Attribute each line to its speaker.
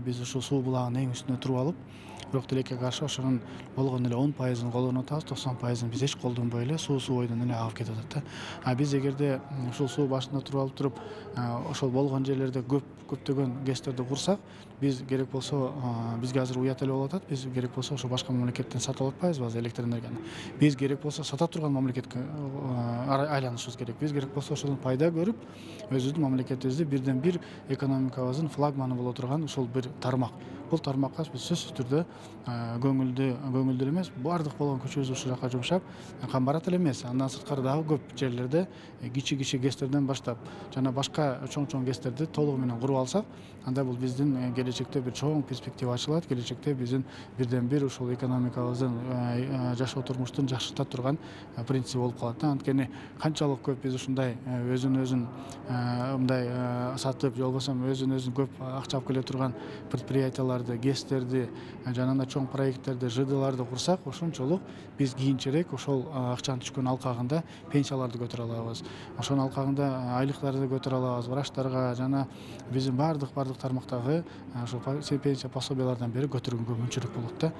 Speaker 1: биз ушул суу булагынын эң үстүнө туруп алып, бирок тилекке каршы ошонун болгону эле 10%-ын колдонуп атабыз, 90%-ын биз эч колдонбой эле суу бойдон эле агып кетип атат да. А биз эгерде ушул суу башында туруп алып туруп, ошол болгон жерлерде көптөгөн ГЭСтерди курсак, биз керек болсо бизге азыр уят эле болуп атат. Биз керек болсо ошо башка мамлекеттен сатып алып атпайбызбы азыр электр энергияны. Биз керек болсо сата турган мамлекетке айланышыбыз керек. Биз керек болсо ошодон пайда көрүп, өзүбүздүн мамлекетибизди бирден бир экономикабыздын флагманы боло турган ушул бир тармак. Бул тармакка биз сөзсүз түрдө көңүлдүү эле эмес, баардык болгон күчүбүздү ушул жака жумшап, Камбарат эле эмес, андан сырткары дагы көп жерлерде кичи ГЭСтерден баштап жана башка чоң ГЭСтерди толугу менен куруп алсак, анда бул биздин келечекте бир чоң перспектива ачылат. Келечекте биздин бирден бир ушул экономикабыздын жашоо турмуштун жакшырта турган принцип болуп калат да. Анткени канчалык көп биз ушундай өзүн мындай сатып, же болбосо өзүн көп акча алып келе турган предприятияларды, ГЭСтерди, жана анда чоң проекттерди, ЖДларды курсак, ошончолук биз кийинчерээк ошол акчанын түшкөн алкагында пенсияларды көтөрө алабыз. Ошонун алкагында айлыктарды көтөрө алабыз, врачтарга жана биздин баардык тармактагы ошол пенсия пособиялардан бери көтөргөнгө мүмкүнчүлүк болот да.